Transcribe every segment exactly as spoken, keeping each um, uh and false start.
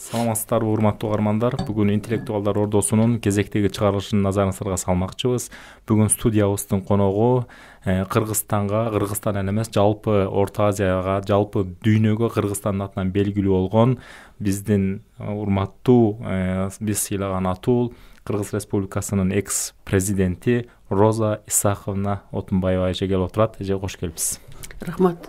Саламатсыздарбы урматтуу угармандар. Бүгүн интеллектуалдар ордосунун кезектеги чыгарылышын назарыңыздарга салмакчыбыз. Бүгүн студиябыздын коногу Кыргызстанга, Кыргызстан эле эмес, жалпы Орто Азияга, жалпы дүйнөгө Кыргызстандын атынан белгилүү болгон биздин урматтуу биз сыйлаган атул Кыргыз Республикасынын экс президенти Роза Исаховна Отунбаева эже келип отурат. Эже кош келипсиз. Рахмат.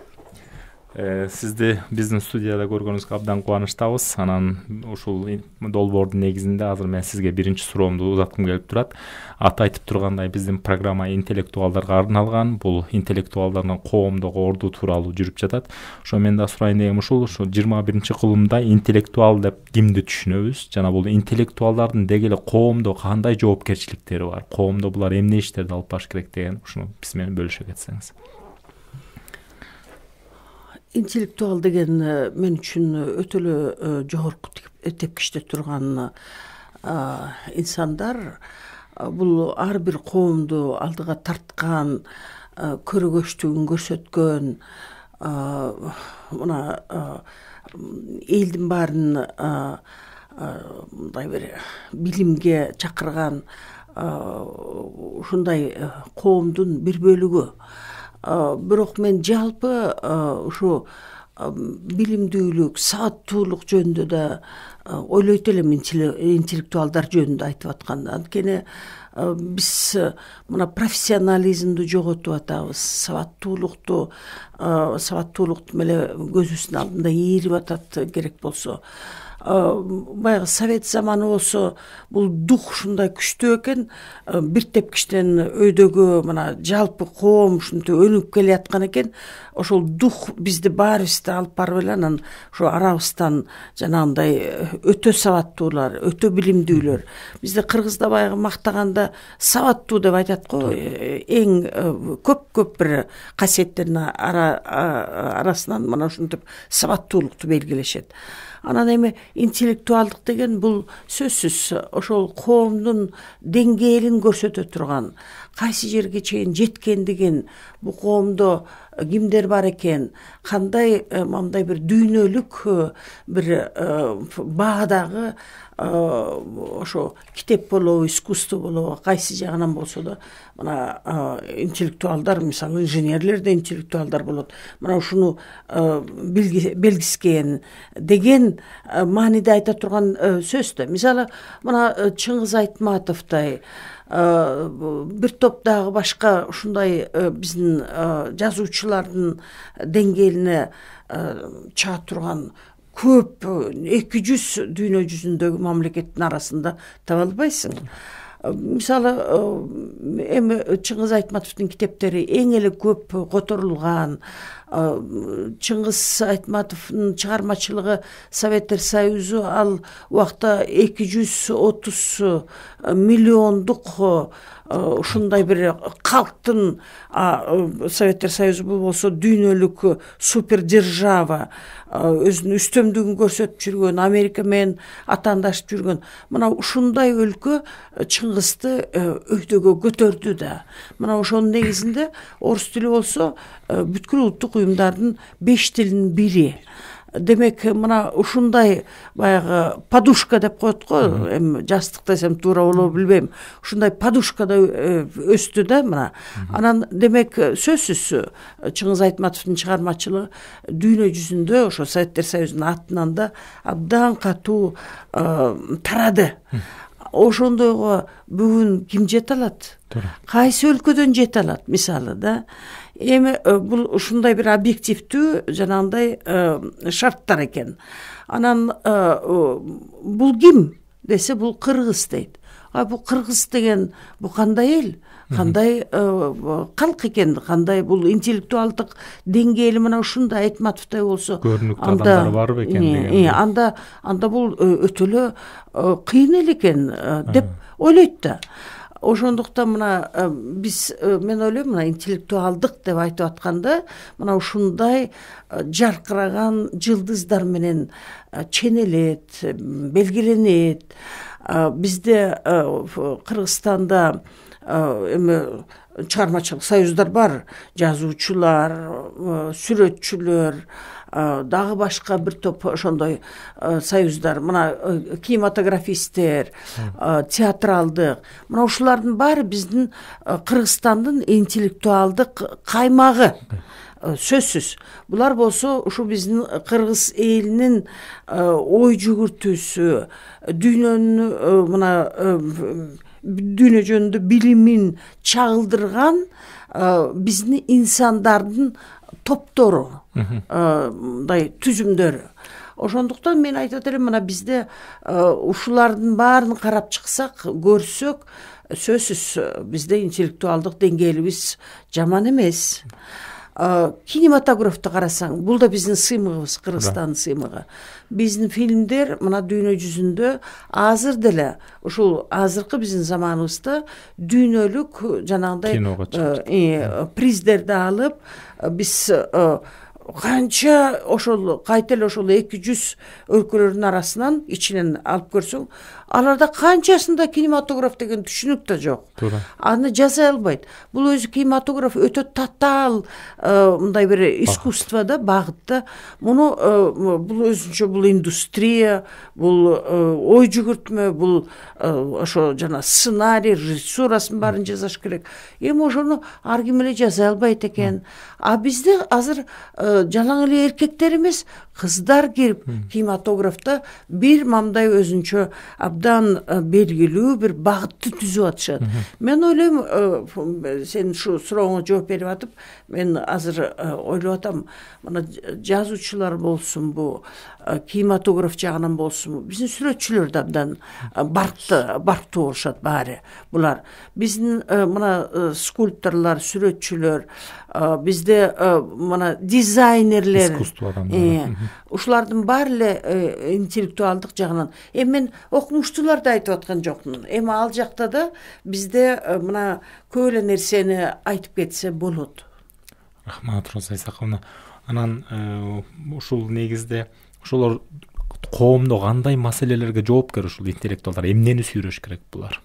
Сизди биздин студияда көргөнүбүзгө абдан кубанычтабыз. Анан ушул долбоордун негизинде азыр мен сизге биринчи суроомду узаткым келип турат. Аты айтып тургандай, биздин программа интеллектуалдарга арналган. Бул интеллектуалдардын коомдогу орду тууралуу жүрүп жатат. Ошо мен да сурайын дегеним ушул, ушу жыйырма биринчи кылымда интеллектуал деп кимди түшүнөбүз? Жана бул интеллектуалдардын деги эле коомдо кандай жоопкерчиликтери бар? Коомдо булар эмне иштерди алып барыш керек деген ушуну биз менен бөлүшө кетсеңиз. Интеллектуал деген мен үчүн өтө эле жогорку тепкичте турган инсандар. Бул ар бир коомду алдыга тарткан, көрөгөчтүгүн көрсөткөн, мына элдин баарын мындай бир билимге чакырган ушундай коомдун бир бөлүгү. Бирок мен жалпы ушу билимдүүлүк, сааттуулук жөнүндө да ойлойт элем, интеллектуалдар жөнүндө айтып атканда. Анткени биз мына профессионализмди жоготуп атабыз, сабаттуулукту, сабаттуулук эле көзүбүздүн алдында ээрип атат керек болсо. Баягы совет заманы болсо бул дух ушундай күчтүү экен, бир тепкичтен өйдөгө мына жалпы коом ушинтип өнүгүп келаткан экен. Ошол дух бизди баарыбызды алып барып эле анан ошо арабыздан жанагындай өтө сабаттуулар, өтө билимдүүлөр. Бизде кыргызда баягы мактаганда сабаттуу деп айтат го, эң көп-көп бир касиеттердин арасынан мына ушинтип сабаттуулукту белгилешет. Анан эми интеллектуалдык деген бул сөзсүз ошол коомдун деңгээлин көрсөтө турган, кайсы жерге чейин жеткендигин, бул коомдо кимдер бар экен, кандай мындай бир дүйнөлүк бир баадагы ошо китеп болобу, искусство болобу, кайсы жагынан болсо да мына интеллектуалдар, мисалы инженерлер да интеллектуалдар болот. Мына ушуну белгискен деген мааниде айта турган сөз да. Мисалы мына Чыңгыз Айтматовдой, бир топ дагы башка ушундай биздин жазуучулардын деңгээлине чыга турган көп эки жүз дүйнө жүзүндөгү мамлекеттин арасында таба албайсың. Мисалы эми Чыңгыз Айтматовдун китептери эң эле көп которулган. Чыңгыз Айтматовдун чыгармачылыгы Советтер Союзу ал убакта эки жүз отуз миллиондук ушундай бир калктын, Советтер Союзу бул болсо дүйнөлүк супер держава, өзүнүн үстөмдүгүн көрсөтүп жүргөн, Америка менен атаандашып жүргөн. Мына ушундай өлкө Чыңгызды өйдөгө көтөрдү да. Мына ошонун негизинде орус тили болсо бүткүл улуттук уюмдардын беш тилинин бири. Демек, мына ушундай баягы подушка деп коет го, эми жастык десем туура болобу билбейм. Ушундай подушкада өстү да мына. Анан демек сөзсүз Чыңгыз Айтматовдун чыгармачылыгы дүйнө жүзүндө ошо Советтер Союзунун атынан да абдан катуу тарады. Ошондойго бүгүн ким жете алат? Кайсы өлкөдөн жете алат, мисалы да. Эми бул ушундай бир объективдүү жанагындай шарттар экен. Анан бул ким десе, бул кыргыз дейт. А бул кыргыз деген бул кандай эл? Кандай калк экен, кандай бул интеллектуалдык деңгээли мына ушундай Айтматовдой болсо, көрүнүктүү адамдар барбы экен деген. Анда анда бул өтө эле кыйын эл экен деп ойлойт да. Ошондуктан мына биз, мен ойлойм, мына интеллектуалдык деп айтып атканда мына ушундай жаркыраган жылдыздар менен ченелет, белгиленет. Бизде Кыргызстанда эми чыгармачылык союздар бар, жазуучулар, сүрөтчүлөр, дагы башка бир топ ошондой союздар, мына кинематографисттер, театралдык, мына ушулардын баары биздин Кыргызстандын интеллектуалдык каймагы. Сөзсүз. Булар болсо ушу биздин кыргыз элинин ой жүгүртүүсү, дүйнөнүн мына дүйнө жөнүндө билимин чагылдырган биздин инсандардын топтору, мындай түзүмдөрү. Ошондуктан мен айтат элем, мына бизде ушулардын баарын карап чыксак, көрсөк, сөзсүз бизде интеллектуалдык деңгээлибиз жаман эмес. Кинематографты карасаң, бул да биздин сыймыгыбыз, Кыргызстандын сыймыгы. Биздин фильмдер мына дүйнө жүзүндө азыр деле ушул азыркы биздин заманыбызда дүйнөлүк жанагындай приздерди алып, биз канча ошол кайта эле ошол эки жүз өлкөлөрдүн арасынан ичинен алып көрсөң, аларда канчасында кинематограф деген түшүнүк да жок. Аны жасай албайт. Бул өзү кинематограф өтө татаал мындай бир искусство да, багыт да. Муну бул өзүнчө бул индустрия, бул ой жүгүртмө, бул ошо жана сценарий, режиссурасын баарын жасаш керек. Эми ошону ар ким эле жасай албайт экен. А бизде азыр жалаң эле эркектер эмес, кыздар кирип кинематографта бир мамдай өзүнчө абдан белгилүү бир багытты түзүп атышат. Мен ойлойм, сен ушу сурооңо жооп берип атып, мен азыр ойлоп атам, мына жазуучулар болсун, бу кинематограф жагынан болсун, биздин сүрөтчүлөр да абдан баркты, барктуу болушат баары. Булар биздин мына скульпторлор, сүрөтчүлөр, бизде мына дизайнерлер, искусство адамдары. Ушулардын баары эле интеллектуалдык жагынан. Эми мен окумуштууларды айтып аткан жокмун. Эми ал жакта да бизде мына көп эле нерсени айтып кетсе болот. Рахмат, Роза Исаковна. Анан ушул негизде ошолор коомдо кандай маселелерге жоопкер ушул интеллектуалдар, эмнени сүйрөш керек булар?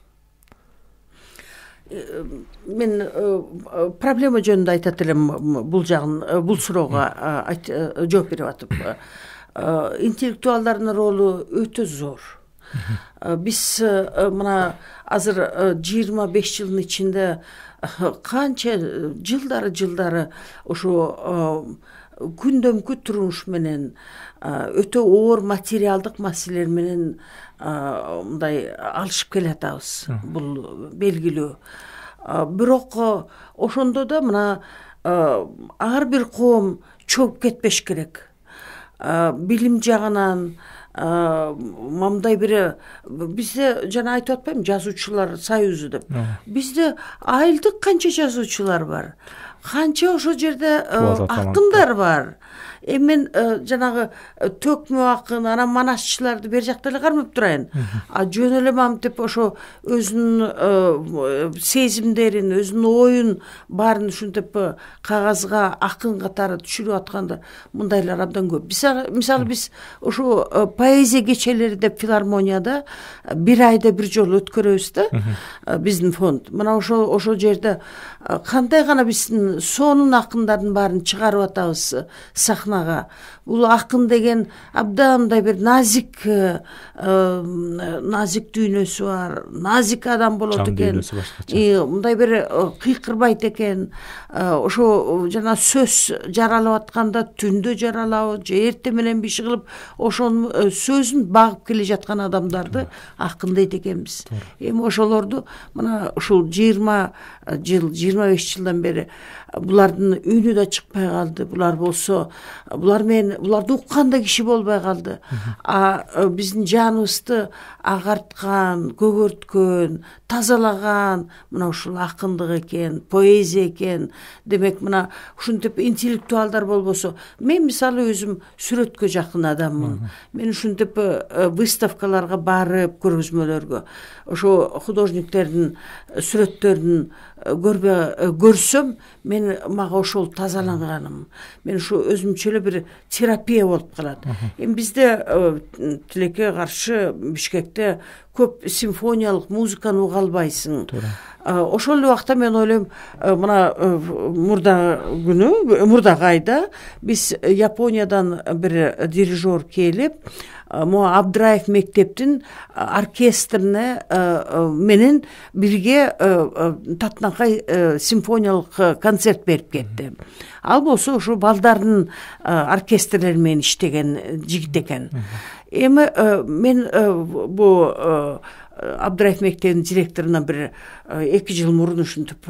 Мен проблема жөнүндө айтат элем, бул жагын, бул суроого жооп берип атып. Интеллектуалдардын ролу өтө зор. Биз мына азыр жыйырма беш жылдын ичинде канча жылдары жылдары ушу күндөмкү турмуш менен, өтө оор материалдык маселелер менен мындай алышып келатабыз. Бул белгилүү. Бирок ошондо да мына ар бир коом чогуп кетпеш керек. Билим жагынан мамдай бир, бизде жана айтып атпайм, жазуучулар союзу деп. Бизде айылдык канча жазуучулар бар. Канча ошол жерде акындар бар. Эми мен жанагы төкмө акын, анан манасчыларды бер жакта эле кармап турайын. А жөн эле мамтип ошо өзүнүн сезимдерин, өзүнүн оюн баарын ушинтип кагазга акын катары түшүрүп атканда мындайлар абдан көп. Мисалы биз ушу поэзия кечелери деп филармонияда бир айда бир жолу өткөрөбүз да, биздин фонд. Мына ошол ошол жерде кандай гана биздин сонун акындардын баарын чыгарып атабыз сахнага. Бул акын деген абдан мындай бир назик, назик дүйнөсү бар, назик адам болот экен. Мындай бир кыйкырбайт экен. Ошо жана сөз жаралып атканда түндө жаралабы, же эртең менен биши кылып, ошонун сөзүн багып келе жаткан адамдарды акын дейт экенбиз. Эми ошолорду мына ушул жыйырма жыл, жыйырма беш жылдан бери булардын үнү да чыкпай калды. Булар болсо, булар менен буларды уккан да киши болбой калды. А биздин жаныбызды агарткан, көгөрткөн, тазалаган мына ушул акындык экен, поэзия экен. Демек мына ушинтип интеллектуалдар болбосо, мен мисалы өзүм сүрөткө жакын адаммын. Мен ушинтип выставкаларга барып, көргөзмөлөргө, ошо художниктердин сүрөттөрүн көрбө көрсөм, мен мага ошол тазаланганым. Мен ушу өзүмчө эле бир терапия болуп калат. Эми бизде тилекке каршы Бишкекте көп симфониялык музыканы уга албайсың. Ошол эле убакта мен ойлойм, мына мурда күнү, мурдагы айда биз Япониядан бир дирижер келип, могу Абдраев мектептин оркестрине менен бирге Татнакай симфониялык концерт берип кетти. Ал болсо ушу балдардын оркестрлери менен иштеген жигит экен. Эми мен бу Абдраев мектебинин директоруна бир эки жыл мурун ушинтип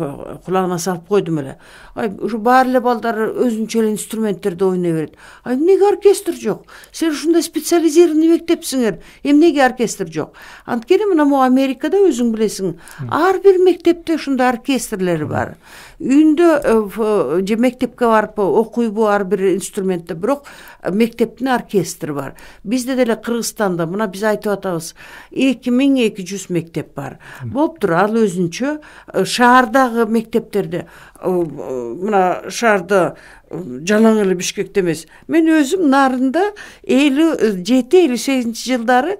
кулагына салып койдум эле. Ай, ушу баары эле балдар өзүнчө эле инструменттерди ойной берет. Ай, эмнеге оркестр жок? Сен ушундай специализированный мектепсиңер. Эмнеге оркестр жок? Анткени мына могу Америкада өзүң билесиң, ар бир мектепте ушундай оркестрлери бар. Үйүндө же мектепке барып окуйбу ар бир инструментте, бирок мектептин оркестри бар. Бизде деле Кыргызстанда мына биз айтып атабыз, эки миң эки жүз мектеп бар. Болуптур, ал өзүнчө шаардагы мектептерде, мына шаарда жалаң эле Бишкекте эмес. Мен өзүм Нарында элүү жети элүү сегизинчи жылдары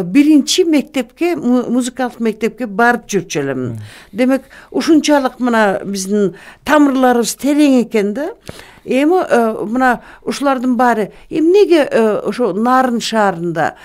биринчи мектепке, музыкалык мектепке барып жүрчү элем. Демек, ушунчалык мына биздин тамырларыбыз терең экен да. Эми мына ушулардын баары эмнеге ошо Нарын шаарында,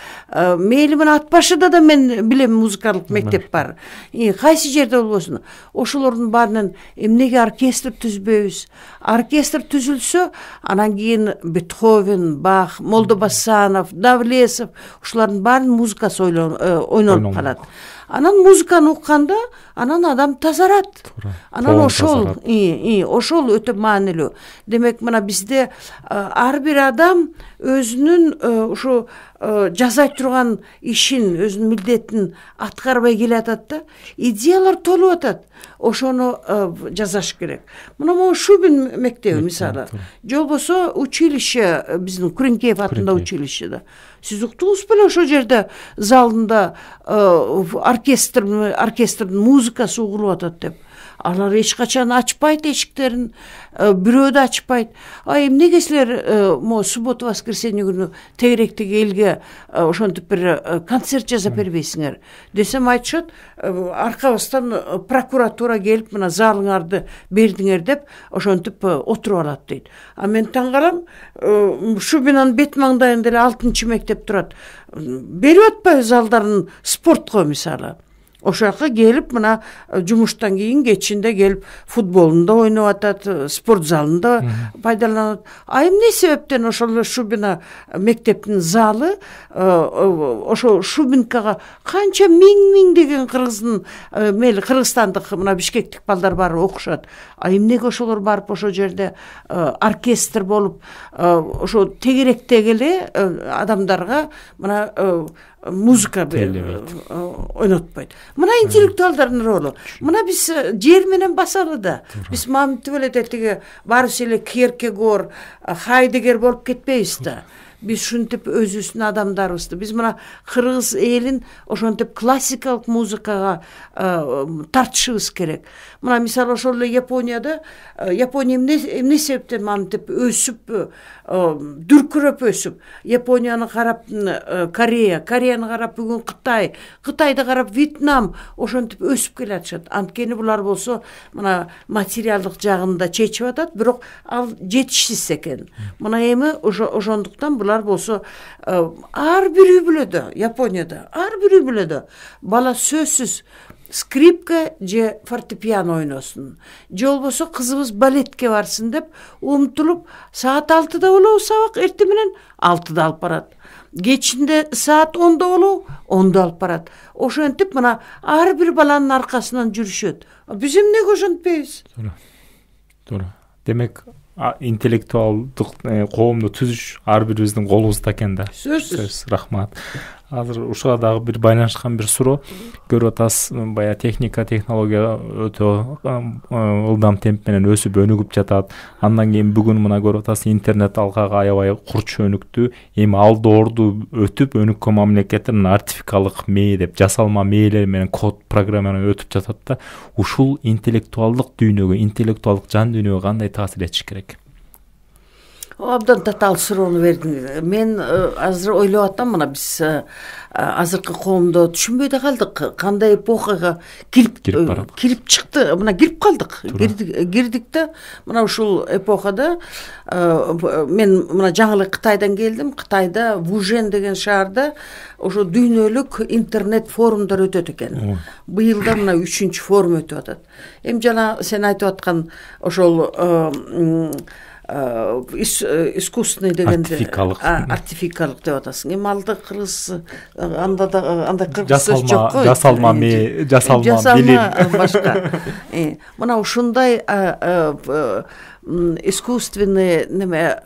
мейли мына Ат башыда да мен билем музыкалык мектеп бар. Кайсы жерде болбосун, ошолордун баарынан эмнеге оркестр түзбөйбүз? Оркестр түзүлсө, анан кийин Бетховен, Бах, Молдобасанов, Давлесов, ушулардын баарынын музыкасы ойнолуп калат. Анан музыканы укканда, анан адам тазарат. Анан ошол, ошол өтө маанилүү. Демек, мына бизде ар бир адам өзүнүн ушу жасай турган ишин, өзүнүн милдетин аткарбай келатат да, идеялар толуп атат. Ошону жасаш керек. Мына могу Шубин мектеби мисалы, же болбосо училище, биздин Күреңкеев атында училищеде. Сиз уктуңуз беле ошол жерде залында оркестр, оркестрдин музыкасы угулуп атат деп? Алар эч качан ачпайт эшиктерин, бирөө да ачпайт. А эмнеге силер могу суббота воскресенье күнү тегеректеги элге ошентип бир концерт жасап бербейсиңер десем, айтышат, аркабыздан прокуратура келип мына залыңарды бердиңер деп ошентип отуруп алат дейт. А мен таң калам, Шубинанын бет маңдайында эле алтынчы мектеп турат. Берип атпайбы залдарын спортко мисалы? Ошол жака келип мына жумуштан кийин кечинде келип футболунда ойноп атат, спорт залында пайдаланат. А эмне себептен ошол Шубина мектептин залы, ошо Шубинкага канча миң-миңдеген кыргыздын, мейли кыргызстандык мына бишкектик балдар барып окушат. А эмнеге ошолор барып ошол жерде оркестр болуп, ошо тегеректеги эле адамдарга мына музыка ойнотпойт. Мына интеллектуалдардын ролу. Мына биз жер менен басалы да. Биз маминтип эле тетиги баарыбыз эле Кierkegaard, Хайдеггер болуп кетпейбиз да. Биз ушинтип өзүбүздүн адамдарыбызды, биз мына кыргыз элин ошентип классикалык музыкага тартышыбыз керек. Мына мисалы ошол эле Японияда, Япония эмне себептен маминтип өсүп, дүркүрөп өсүп, Японияны карап Корея, Кореяны карап бүгүн Кытай, Кытайды карап Вьетнам ошентип өсүп келатышат. Анткени булар болсо мына материалдык жагында чечип атат, бирок ал жетишсиз экен. Мына эми ошондуктан булар болсо ар бир үй бүлөдө, Японияда ар бир үй бүлөдө бала сөзсүз скрипка же фортепиано ойносун, же болбосо кызыбыз балетке барсын деп умтулуп, саат алтыда болобу сабак, эртең менен алтыда алып барат. Кечинде саат ондо болобу, ондо алып барат. Ошентип мына ар бир баланын аркасынан жүрүшөт. Биз эмнеге ошентпейбиз? Туура. Туура. Демек, интеллектуалдык коомду түзүш ар бирибиздин колубузда экен да. Сөзсүз. Рахмат. Азыр ушуга дагы бир байланышкан бир суроо. Көрүп атасыз, бая техника, технология өтө ылдам темп менен өсүп өнүгүп жатат. Андан кийин бүгүн мына көрүп атасыз, интернет алкага аябай курч өнүктү. Эми ал доорду өтүп өнүккөн мамлекеттер артификалык мээ деп жасалма мэйлер менен код программаны өтүп жатат да. Ушул интеллектуалдык дүйнөгө, интеллектуалдык жан дүйнөгө кандай таасир этиш керек? Абдан татаал суроону бердиң. Мен азыр ойлоп атам, мына биз азыркы коомдо түшүнбөй да калдык, кандай эпохага кирип кирип чыкты, мына кирип калдык. Кирдик да, мына ушул эпохада мен мына жаңы эле Кытайдан келдим. Кытайда Вужен деген шаарда ошо дүйнөлүк интернет форумдар өтөт экен. Быйыл да мына үчүнчү форум өтүп атат. Эми жана сен айтып аткан ошол искусственный дегенде артификалык деп атасың. Эми алды кыргыз анда да андай кыргыз сөз жок го. Жасалма ме, жасалма билим башка. Мына ушундай искусственный неме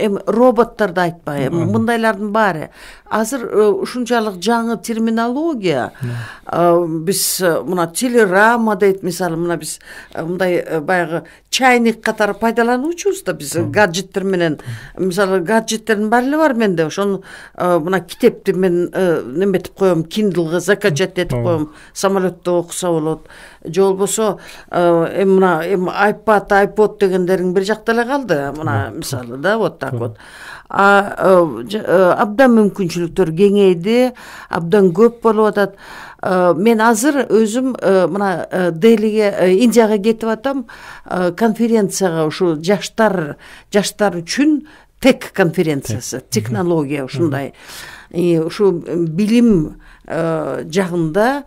эми роботторду айтпай, мындайлардын баары азыр ушунчалык жаңы терминология. Биз мына телерама дейт, мисалы мына биз мындай баягы чайник катары пайдалануучубуз да биз гаджеттер менен. Мисалы гаджеттердин баары эле бар менде. Ошону мына китепти мен неметип коем, Kindle'га закачать этип коем, самолетто окуса болот. Же болбосо эми мына эми iPad, iPod дегендерин бир жакта эле калды. Мына мисалы да вот так вот. Абдан мүмкүнчүлүктөр кеңейди, абдан көп болуп атат. Мен азыр өзүм мына Делиге, Индияга кетип атам, конференцияга, ушу жаштар жаштар үчүн тек конференциясы, технология ушундай. Ушу билим жагында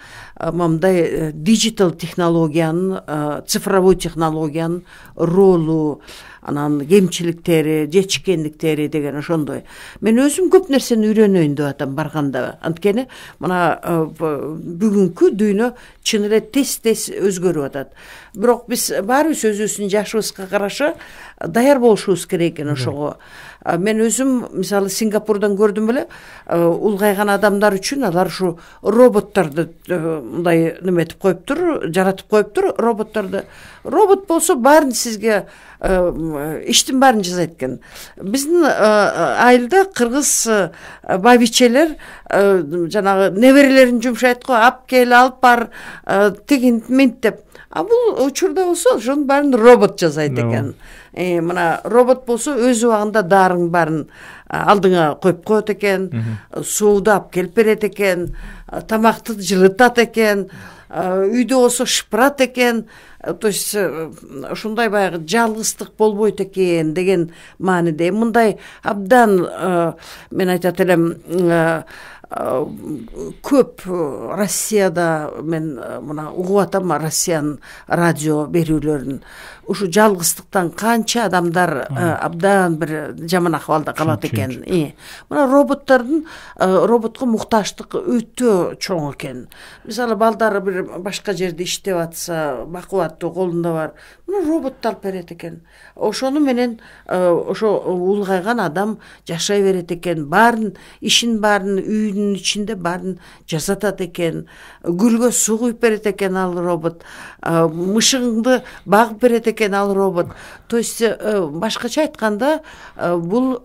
мындай диджитал технологиянын, цифровой технологиянын ролу, анан кемчиликтери, жетишкендиктери деген ошондой. Мен өзүм көп нерсени үйрөнөйүн деп атам барганда. Анткени мына бүгүнкү дүйнө чын эле тез-тез өзгөрүп атат. Бирок биз баарыбыз өзүбүздүн жашыбызга караша даяр болушубуз керек экен ошого. Мен өзүм мисалы Сингапурдан көрдүм эле, улгайган адамдар үчүн алар ушу роботторду мындай неметип коюптур, жаратып коюптур роботторду. Робот болсо баарын сизге иштин баарын жасайт экен. Биздин айылда кыргыз бабичелер жанагы неберелерин жумшайт го, ап кел, алып бар, тигин минт деп. А бул учурда болсо ошонун баарын робот жасайт экен. Мына робот болсо өз убагында даарың баарын алдыңа коюп коет экен, сууду алып келип берет экен, тамакты жылытат экен, үйдө болсо шыпырат экен. То есть ушундай баягы жалгыздык болбойт экен деген мааниде. Мындай абдан мен айтат элем көп Россияда мен мына угуп атам, Россиянын радио берүүлөрүн. Ушу жалгыздыктан канча адамдар абдан бир жаман акыбалда калат экен. Мына роботтордун роботко мукташтык өтө чоң экен. Мисалы балдары бир башка жерде иштеп атса, бакубаттуу колунда бар, мына роботду алып берет экен. Ошону менен ошо улгайган адам жашай берет экен. Баарын ишин баарын үйдүн ичинде баарын жасатат экен. Гүлгө суу куюп берет экен ал робот. Мышыгыңды багып берет экен ал робот. То есть башкача айтканда бул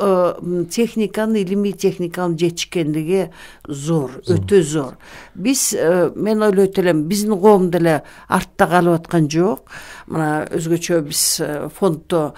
техниканын, илимий техниканын жетишкендиги зор, өтө зор. Биз мен ойлойт элем, биздин коом деле артта калып аткан жок. Мына өзгөчө биз фонддо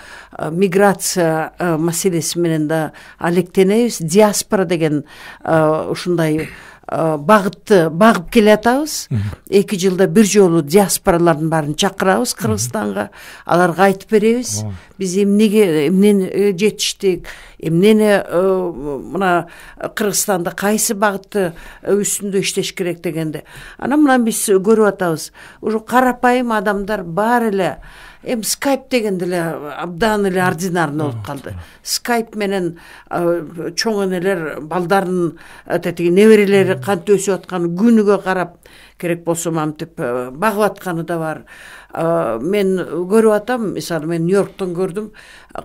миграция маселеси менен да алектенебиз. Диаспора деген ушундай багытты багып келатабыз. Эки жылда бир жолу диаспоралардын баарын чакырабыз Кыргызстанга. Аларга айтып беребиз. Биз эмнеге эмнени жетиштик, эмнени мына Кыргызстанда кайсы багытты үстүндө иштеш керек дегенде. Анан мына биз көрүп атабыз. Уже карапайым адамдар баары эле эми скайп дегенде эле абдан эле ординарный болуп калды. Скайп менен чоң энелер балдарын тетиги неберелери кантип өсүп атканын күнүгө карап, керек болсо мамтип багып атканы да бар. Мен көрүп атам, мисалы мен Нью-Йорктон көрдүм.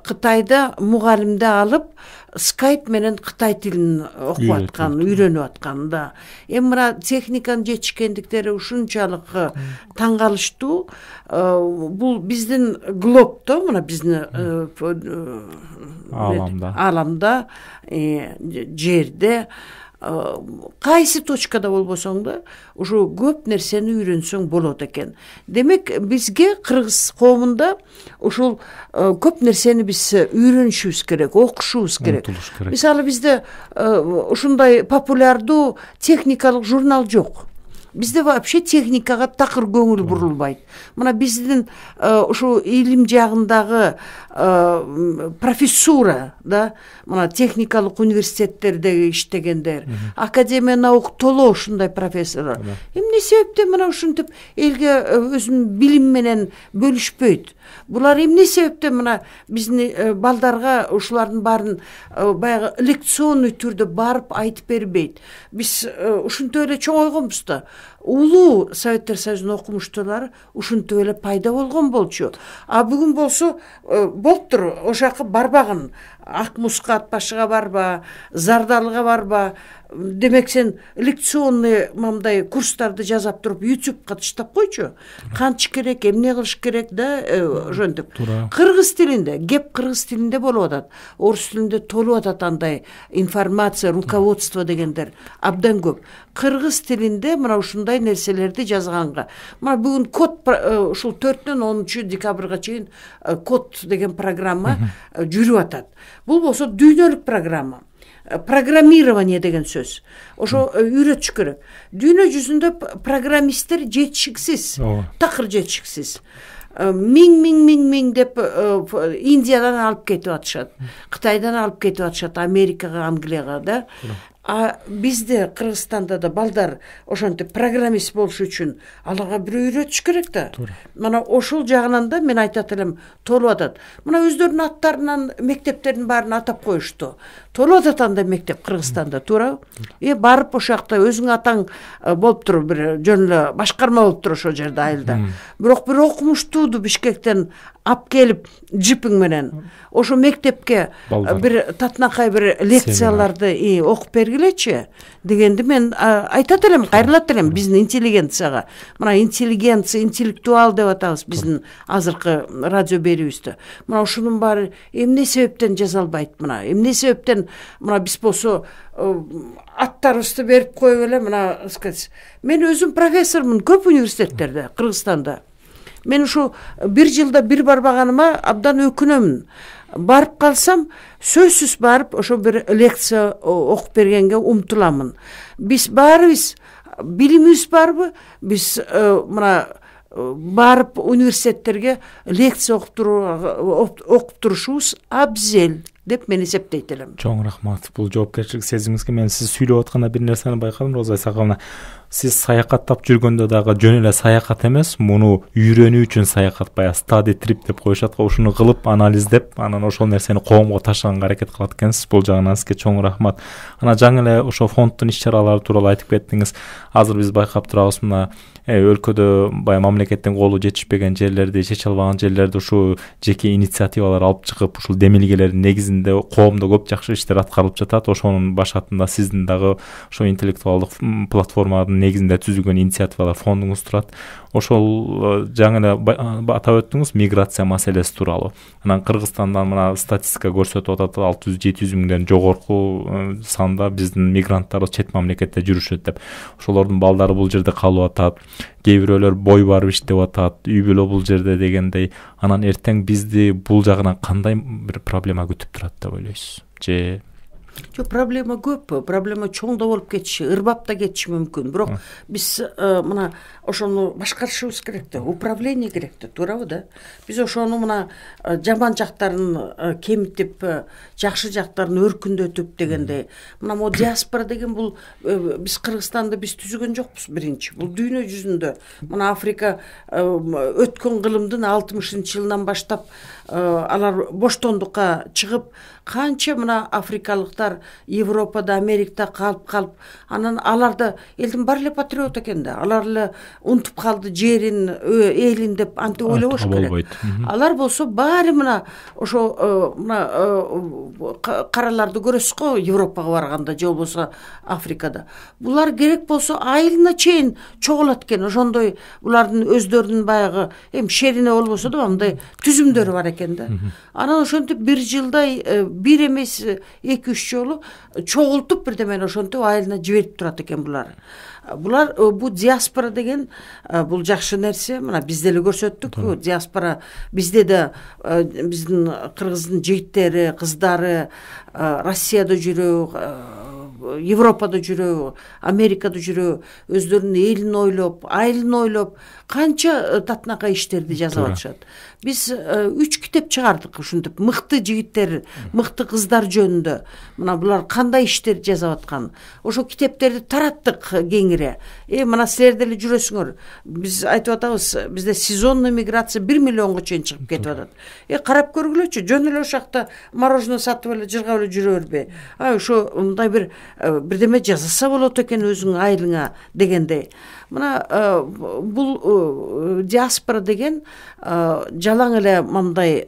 Кытайда мугалимди алып скайп менен кытай тилин окуп аткан, үйрөнүп аткан да. Эми мына техниканын жетишкендиктери ушунчалык таң калыштуу. Бул биздин глобдо, мына биздин ааламда, ааламда, жерде кайсы точкада болбосоң да ушу көп нерсени үйрөнсөң болот экен. Демек бизге кыргыз коомунда ушул көп нерсени биз үйрөнүшүбүз керек, окушубуз керек. Мисалы бизде ушундай популярдуу техникалык журнал жок. Бизде вообще техникага такыр көңүл бурулбайт. Мына биздин ушу илим жагындагы профессура, да, мына техникалык университеттерде иштегендер, академия наук толо ушундай профессорлор. Эмне себептен мына ушинтип элге өзүнүн билим менен бөлүшпөйт? Булар эмне себептен мына биздин балдарга ушулардын баарын баягы лекционный түрдө барып айтып бербейт? Биз ушинтип эле чоңойгонбуз да. Улуу Советтер Союзунун окумуштуулары ушинтип эле пайда болгон болчу. А бүгүн болсо болуптур, ошака барбагын. Ак муска атбашыга барба, Зардалыга барба. Демек сен лекционный мамдай курстарды жазап туруп ютубка таштап койчу. Канчы керек, эмне кылыш керек да, ошентип. Кыргыз тилинде, кеп кыргыз тилинде болуп атат. Орус тилинде толуп атат андай информация, руководство дегендер абдан көп. Кыргыз тилинде мына ушундай нерселерди жазганга. Мына бүгүн код ушул төртүнөн онунчу декабрга чейин код деген программа жүрүп атат. Бул болсо дүйнөлүк программа. Программирование деген сөз. Ошо үйрөтүш керек. Дүйнө жүзүндө программисттер жетишиксиз, такыр жетишиксиз. Миң миң миң миң деп Индиядан алып кетип атышат, Кытайдан алып кетип атышат, Америкага, Англияга, да. А бизде Кыргызстанда да балдар ошентип программист болуш үчүн аларга бирөө үйрөтүш керек да. Мына ошол жагынан да мен айтат элем, толуп атат. Мына өздөрүнүн аттарынан мектептердин баарын атап коюшту. Толуп атат андай мектеп Кыргызстанда, туура? Э барып ошол жакта өзүң атаң болуптур, бир жөн эле башкарма болуптур ошол жерде айылда. Бирок бир окумуштууду Бишкектен алып келип джипиң менен ошо мектепке бир татынакай бир лекцияларды окуп бергилечи дегенди мен айтат элем, кайрылат элем биздин интеллигенцияга. Мына интеллигенция, интеллектуал деп атабыз биздин азыркы радио берүүбүздө. Мына ушунун баары эмне себептен жазалбайт? Мына эмне себептен мына биз болсо аттарыбызды берип коюп эле мына сказать. Мен өзүм профессормун көп университеттерде Кыргызстанда. Мен ушу бир жылда бир барбаганыма абдан өкүнөмүн. Барып калсам, сөзсүз барып ошо бир лекция окуп бергенге умтуламын. Биз баарыбыз билимибиз барбы? Биз мына барып университеттерге лекция окуп туруу окуп турушубуз абзел деп мен эсептейт элем. Чоң рахмат. Бул жоопкерчилик сезимиңизге мен сиз сүйлөп атканда бир нерсени байкадым, Роза Исаковна. Сиз саякаттап жүргөндө дагы жөн эле саякат эмес, муну үйрөнүү үчүн саякат, баягы study trip деп коюшат го, ушуну кылып, анализдеп, анан ошол нерсени коомго ташыганга аракет кылат экенсиз. Бул жагынан сизге чоң рахмат. Ана жаңы эле ошо фонддун иш-чаралары тууралуу айтып кеттиңиз. Азыр биз байкап турабыз, мына өлкөдө баягы мамлекеттин колу жетишпеген жерлерди, чече албаган жерлерди ушу жеке инициативалар алып чыгып, ушул демилгелердин негизинде коомдо көп жакшы иштер аткарылып жатат. Ошонун башатында сиздин дагы ошо интеллектуалдык платформанын негизинде түзүлгөн инициативалар фондуңуз турат. Ошол жаңы эле атап өттүңүз миграция маселеси тууралуу. Анан Кыргызстандан мына статистика көрсөтүп атат, алты жүз жети жүз миңден жогорку санда биздин мигранттар чет мамлекетте жүрүшөт деп. Ошолордун балдары бул жерде калып атат. Кээ бирөөлөр бой барып иштеп атат, үй бүлө бул жерде дегендей. Анан эртең бизди бул жагынан кандай бир проблема күтүп турат деп ойлойсуз? Же Жок, проблема көп, проблема чоң да болуп кетиши, ырбап да кетиши мүмкүн. Бирок биз мына ошону башкарышыбыз керек да, управление керек да, туурабы да? Биз ошону мына жаман жактарын кемитип, жакшы жактарын өркүндөтүп дегендей. Мына могу диаспора деген бул биз Кыргызстанды биз түзүгөн жокпуз биринчи. Бул дүйнө жүзүндө. Мына Африка өткөн кылымдын алтымышынчы жылынан баштап алар боштондукка чыгып, канча мына африкалыктар Европада, Америкада калып калып, анан аларды элдин баары эле патриот экен да. Алар эле унутуп калды жерин, элин деп антип ойлобош керек. Алар болсо баары мына ошо мына караларды көрөсүз го Европага барганда же болбосо Африкада. Булар керек болсо айылына чейин чогулат экен. Ошондой булардын өздөрүнүн баягы эми шерине болбосо да андай түзүмдөрү бар экен да. Анан ошентип бир жылдай бир эмес эки үч жолу чогултуп бирдемени ошентип айылына жиберип турат экен булар. Булар бу диаспора деген бул жакшы нерсе. Мына биз деле көрсөттүк. Диаспора бизде да биздин кыргыздын жигиттери, кыздары Россияда жүрөбү, Европада жүрөбү, Америкада жүрөбү, өздөрүнүн элин ойлоп, айылын ойлоп, канча татынакай иштерди жазып атышат. Биз үч китеп чыгардык ушинтип мыкты жигиттер, мыкты кыздар жөнүндө. Мына булар кандай иштерди жазып аткан. Ошо китептерди тараттык кеңире. Э, мына силер деле жүрөсүңөр. Биз айтып атабыз, бизде сезонный миграция бир миллионго чейин чыгып кетип атат. Э, карап көргүлөчү, жөн эле ошол жакта мороженое сатып эле жыргап эле жүрө бербей. А ошо мындай бир бирдеме жасаса болот экен өзүңүн айылыңа дегендей. Мына бул диаспора деген жалаң эле мындай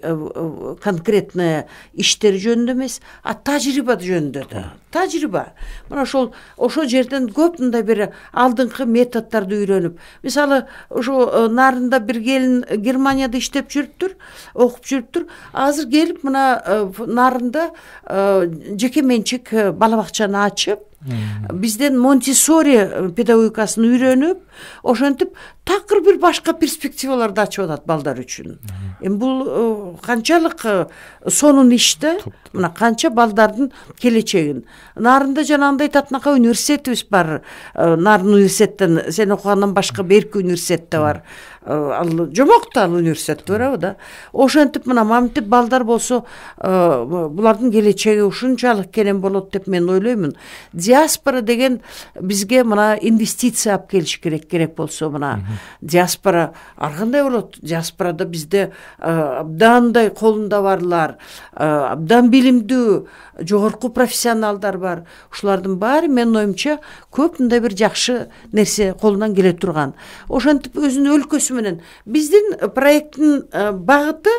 конкретный иштер жөнүндө эмес, а тажрыйба жөнүндө да. Тажрыйба. Мына ошол ошол жерден көп мындай бир алдыңкы методдорду үйрөнүп, мисалы ошо нарында бир келин Германияда иштеп жүрүптүр, окуп жүрүптүр. Азыр келип мына нарында жеке менчик бала бакчаны ачып, бизден Монтессори педагогикасын үйрөнүп, ошентип такыр бир башка перспективаларды ачып атат балдар үчүн. Эми бул канчалык сонун иш да, мына канча балдардын келечегин. Нарында жанагындай татынакай университетибиз бар. Нарын университеттен сен окугандан башка берки университет да бар. Ал жомокто ал университет барабы да. Ошентип мына мамтип балдар болсо, булардын келечеги ушунчалык керем болот деп мен ойлоймун. Диаспора деген бизге мына инвестиция алып келиш керек, керек болсо мына диаспора ар кандай болот? Диаспорада бизде абдандай колунда барлар, абдан билимдүү, жогорку профессионалдар бар. Ушулардын баары менин оюмча көп мындай бир жакшы нерсе колунан келе турган. Ошентип өзүнүн өлкөсү менен биздин проекттин багыты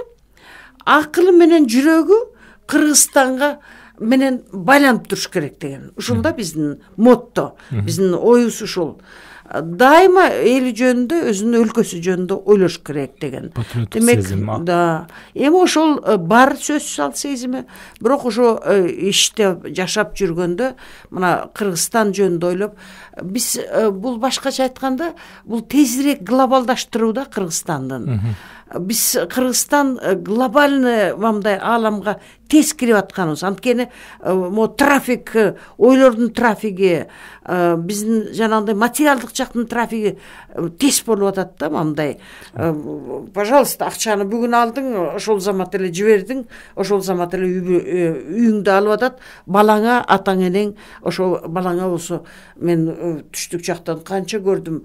акылы менен жүрөгү Кыргызстанга менен байланып туруш керек деген. Ушул да биздин мотто, биздин оюбуз ушул. Дайыма эли жөнүндө, өзүнүн өлкөсү жөнүндө ойлош керек деген. Демек, да, эми ошол бар сөзсүз ал сезими, бирок ошо иште жашап жүргөндө мына Кыргызстан жөнүндө ойлоп, биз бул башкача айтканда, бул тезирээк глобалдаштыруу да Кыргызстандын. Биз Кыргызстан глобальный мындай ааламга тез кирип атканыбыз. Анткени мо трафик, ойлордун трафиги, биздин жанагындай материалдык жактын трафиги тез болуп атат да, мындай. Пожалуйста, акчаны бүгүн алдың, ошол замат эле жибердиң, ошол замат эле үйүңдө алып атат. Балаңа, атаң энең, ошо балаңа болсо, мен түштүк жактан канча көрдүм,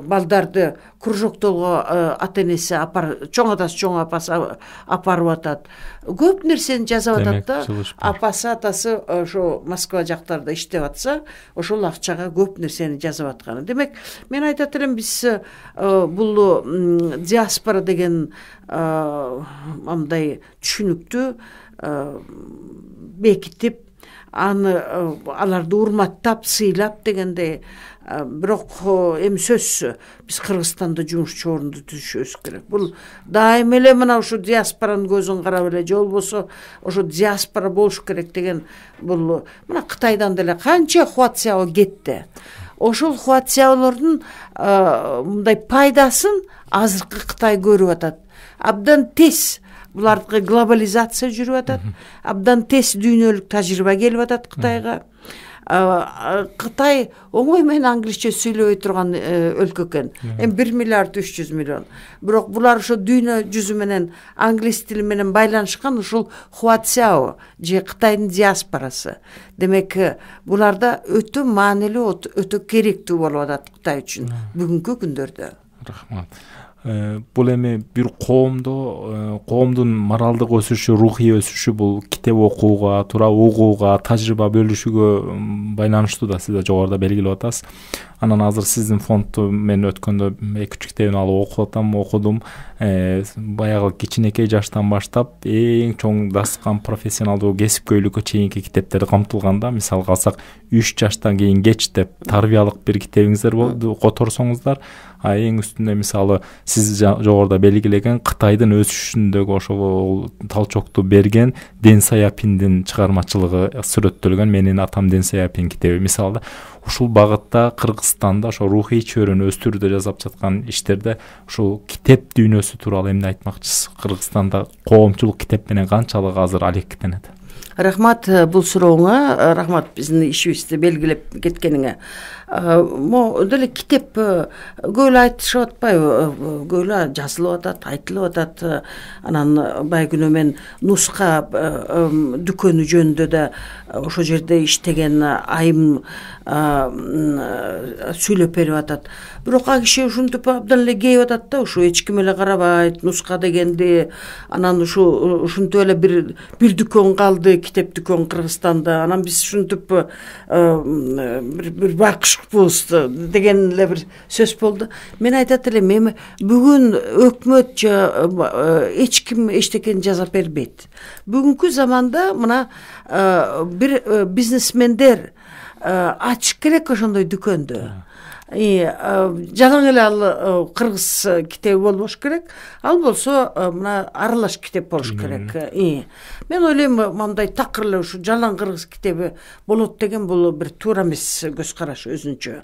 балдарды кружоктолго ата энеси апар, чоң атасы, чоң апасы апарып атат. Көп нерсени жазып атат да. Апасы, атасы ошо Москва жактарда иштеп атса, ошол акчага көп нерсени жазып атканы. Демек, мен айтат элем, биз бул диаспора деген мындай түшүнүктү бекитип, аны аларды урматтап, сыйлап дегендей. Бирок эми сөзсүз биз Кыргызстанда жумушчу орунду түзүшүбүз керек. Бул дайым эле мына ушу диаспоранын көзүн карап эле, же болбосо ошо диаспора болуш керек деген бул мына Кытайдан деле канча Хуацяо кетти. Ошол Хуацяолордун мындай пайдасын азыркы Кытай көрүп атат. Абдан тез булардыкы глобализация жүрүп атат. Абдан тез дүйнөлүк тажрыйба келип атат Кытайга. Кытай оңой менен англисче сүйлөбөй турган өлкө экен. Эми бир миллиард үч жүз миллион. Бирок булар ошо дүйнө жүзү менен англис тили менен байланышкан ушул Хуацяо же Кытайдын диаспорасы. Демек, буларда өтө маанилүү, өтө керектүү болуп атат Кытай үчүн бүгүнкү күндөрдө. Рахмат. Бул эми бир коомдо коомдун моралдык өсүшү, рухий өсүшү бул китеп окууга, туура угууга, тажрыйба бөлүшүүгө байланыштуу да, сиз да жогоруда белгилеп атасыз. Анан азыр сиздин фондду мен өткөндө эки үч китебин алып окуп атам, окудум. Баягы кичинекей жаштан баштап эң чоң дастан профессионалдуу кесипкөйлүккө чейинки китептер камтылганда, мисалга алсак үч жаштан кийин кеч деп тарбиялык бир китебиңиздер болду, которсоңуздар. А эң үстүндө мисалы сиз жогоруда белгилеген Кытайдын өсүшүндөгү ошол талчокту берген Дэн Сяопиндин чыгармачылыгы сүрөттөлгөн Менин атам Дэн Сяопин китеби. Мисалы ушул багытта Кыргызстанда ошо рухий чөйрөнү өстүрүүдө жасап жаткан иштерде ушул китеп дүйнөсү тууралуу эмне айтмакчысыз? Кыргызстанда коомчулук китеп менен канчалык азыр алектенет? Рахмат бул сурооңа, рахмат биздин ишибизди белгилеп кеткениңе. Мо деле китеп көп эле айтышып атпайбы? Көп эле жазылып атат, айтылып атат. Анан байгүнү мен нуска дүкөнү жөнүндө да ошо жерде иштеген айым сүйлөп берип атат. Бирок а киши ушинтип абдан эле кейип атат да, ушу эч ким эле карабайт, нуска дегенди. Анан ушу ушинтип эле бир бир дүкөн калды, китеп дүкөн Кыргызстанда. Анан биз ушинтип бир бир бакышпыз деген эле бир сөз болду. Мен айтат элем, эми бүгүн өкмөт же эч ким эчтекени жасап бербейт. Бүгүнкү заманда мына бир бизнесмендер ачыш керек ошондой дүкөндү. Жалаң эле ал кыргыз китеби болбош керек, ал болсо мына аралаш китеп болуш керек. Мен ойлойм, мындай такыр эле ушу жалаң кыргыз китеби болот деген бул бир туура эмес көз караш өзүнчө.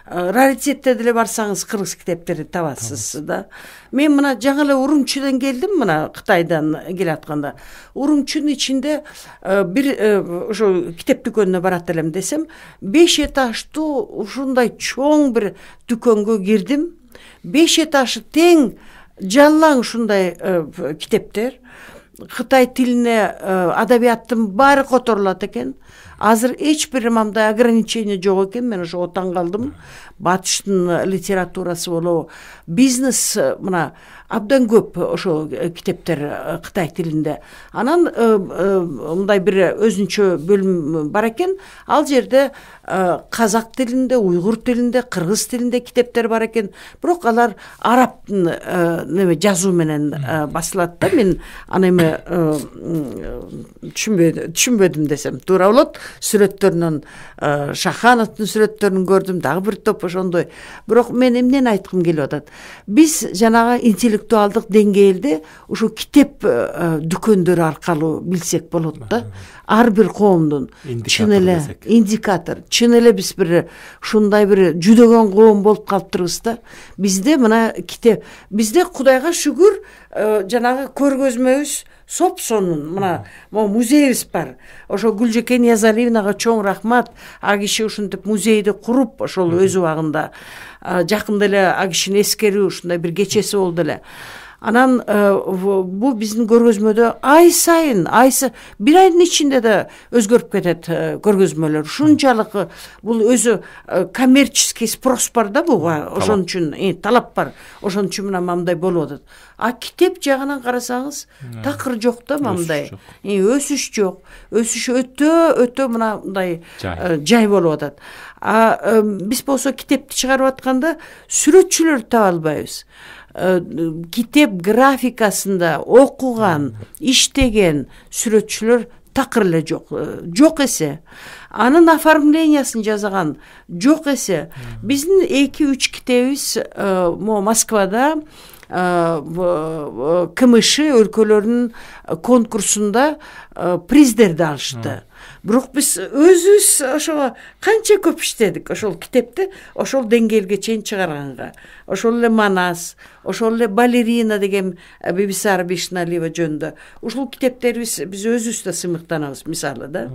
Раритетте деле барсаңыз кыргыз китептерди табасыз да. Мен мына жаңы эле Урумчиден келдим, мына Кытайдан келатканда. Урумчинин ичинде бир ошо китеп дүкөнүнө барат элем десем, беш этаждуу ушундай чоң бир дүкөнгө кирдим. Беш этажы тең жалаң ушундай китептер. Кытай тилине адабияттын баары которулат экен. Азыр эч бир мындай ограничение жок экен. Мен ошого таң калдым. Батыштын литературасы болобу, бизнес мына абдан көп ошо китептер Кытай тилинде. Анан мындай бир өзүнчө бөлүм бар экен. Ал жерде казак тилинде, уйгур тилинде, кыргыз тилинде китептер бар экен. Бирок алар арабтын неме жазуу менен басылат да. Мен аны эми түшүнбөдүм, түшүнбөдүм десем туура болот. Сүрөттөрүнөн Шахановдун сүрөттөрүн көрдүм, дагы бир топ ошондой. Бирок мен эмнени айткым келип атат? Биз жанагы интеллектуалдык деңгээлде ушу китеп дүкөндөрү аркылуу билсек болот да. Ар бир коомдун чын эле индикатор, чын эле биз бир ушундай бир жүдөгөн коом болуп калыптырбыз да. Бизде мына китеп, бизде Кудайга шүгүр жанагы көргөзмөбүз соп-сонун мына музейибиз бар. Ошо Гүлжекен Ниязалиевнага чоң рахмат. А киши ушинтип музейди куруп, ошол өз убагында жакында эле а кишини эскерүү ушундай бир кечеси болду эле. Анан бул биздин көргөзмөдө ай сайын, айсы бир айдын ичинде да өзгөрүп кетет көргөзмөлөр. Ушунчалык бул өзү коммерческий спрос бар да буга, ошон үчүн талап бар. Ошон үчүн мына мындай болуп атат. А китеп жагынан карасаңыз, такыр жок да мындай. Өсүш жок. Өсүш өтө өтө мындай жай болуп атат. А биз болсо китепти чыгарып атканда сүрөтчүлөр таба албайбыз. Китеп графикасында окуган, иштеген сүрөтчүлөр такыр эле жок. Жок эсе. Анын оформлениясын жасаган жок эсе. Биздин эки үч китебибиз мо Москвада КМШ өлкөлөрүнүн конкурсунда приздерди алышты. Бирок биз өзүбүз ошого канча көп иштедик ошол китепти ошол деңгээлге чейин чыгарганга. Ошол эле Манас, ошол эле Балерина деген Бибисара Бишналиева жөнүндө. Ушул китептерибиз биз өзүбүз да сыймыктанабыз, мисалы да.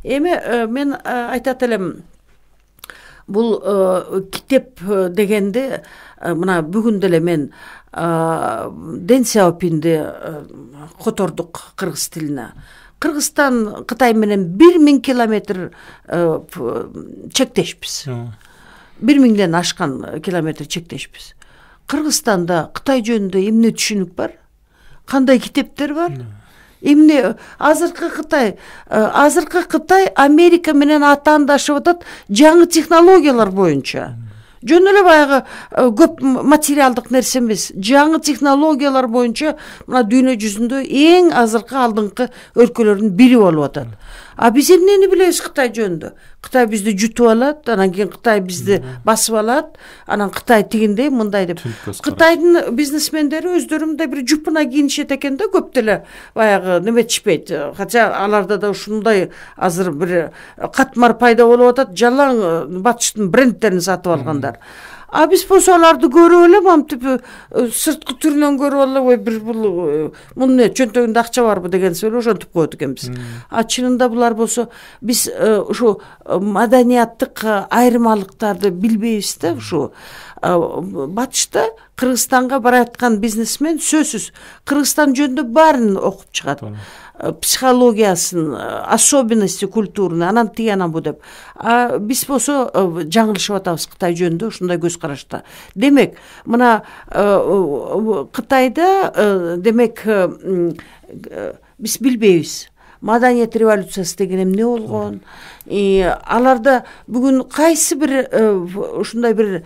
Эми мен айтат элем, бул китеп дегенди мына бүгүн деле мен Дэн Сяопинди котордук кыргыз тилине. Кыргызстан Кытай менен бир миң километр чектешпиз. бир миңден ашкан километр чектешпиз. Кыргызстанда Кытай жөнүндө эмне түшүнүк бар? Кандай китептер бар? Эмне азыркы Кытай, азыркы Кытай Америка менен атаандашып атат жаңы технологиялар боюнча. жөн эле баягы көп материалдык нерсе эмес, жаңы технологиялар боюнча мына дүйнө жүзүндө эң азыркы алдыңкы өлкөлөрдүн бири болуп атат. А биз эмнени билебиз Кытай жөнүндө? Кытай бизди жутуп алат, анан кийин Кытай бизди басып алат, анан Кытай тигиндей мындай деп. Кытайдын бизнесмендери өздөрү мындай бир жупуна кийинишет экен да, көп деле баягы неметишпейт. Хотя аларда да ушундай азыр бир катмар пайда болуп атат, жалаң батыштын брендтерин сатып алгандар. А биз болсо аларды көрүп эле мамтип сырткы түрүнөн көрүп алып, ой бир бул мунун эмне чөнтөгүндө акча барбы деген сөйлөп ошентип коет экенбиз. А чынында булар болсо биз ушу маданияттык айырмалыктарды билбейбиз да. Ушу батышта Кыргызстанга бараткан бизнесмен сөзсүз Кыргызстан жөнүндө баарын окуп чыгат. Психологиясын, особенности культурны, анан тиги анан бу деп. А биз болсо жаңылышып атабыз Кытай жөнүндө ушундай көз карашта. Демек, мына Кытайда демек биз билбейбиз. Маданият революциясы деген эмне болгон? И аларда бүгүн кайсы бир ушундай бир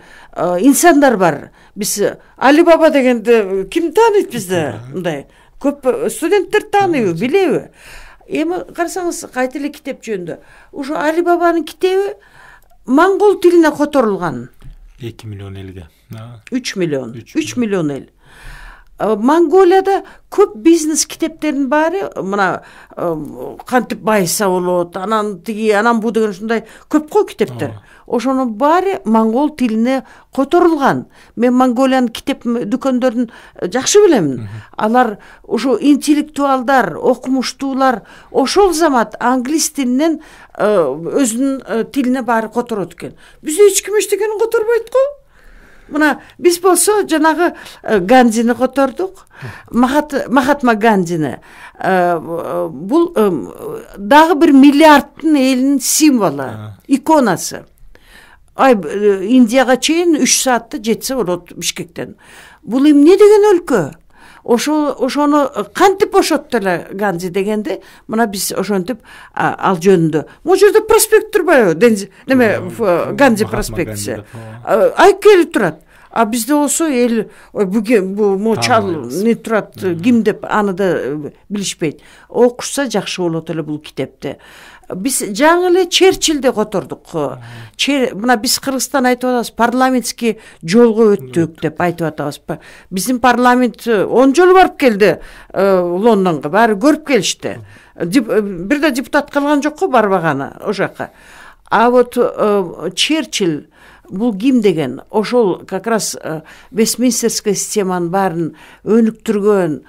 инсандар бар. Биз Али Баба дегенди ким тааныйт бизде? Мындай көп студенттер тааныйбы, билеби? Эми карасаңыз, кайта эле китеп жөнүндө. Ушу Али Бабанын китеби моңгол тилине которулган. эки миллион элге. үч миллион. үч миллион эл. Монголияда көп бизнес китептердин баары мына кантип байыса болот, анан тиги, анан бу деген ушундай көп кой китептер. Ошонун баары моңгол тилине которулган. Мен Монголиянын китеп дүкөндөрүн жакшы билем. Алар ушу интеллектуалдар, окумуштуулар ошол замат англис тилинен өзүнүн тилине баары которот экен. Бизде эч ким эчтекени которбойт го. Мына биз болсо жанагы Гандини котордук, Махатма Гандини. Бул дагы бир миллиардтын элинин символу, иконасы. Ай Индияга чейин үч саатта жетсе болот Бишкектен. Бул эмне деген өлкө? Ошо ошону кантип бошотту эле Ганди дегенде, мына биз ошентип ал жөнүндө. Могу жерде проспект турбайбы? Неме Ганди проспектиси. Айкели турат. А бизде болсо эл бу мочал не турат, ким деп аны да билишпейт. Окушса жакшы болот эле бул китепти. Биз жаңы эле Черчиллди котордук. Мына биз Кыргызстан айтып атабыз, парламентский жолго өттүк деп айтып атабыз. Биздин парламент он жолу барып келди Лондонго, баары көрүп келишти. Бир да депутат калган жок го барбаганы о жака. А вот Черчилл бул ким деген? Ошол как раз Вестминстерская системанын баарын өнүктүргөн,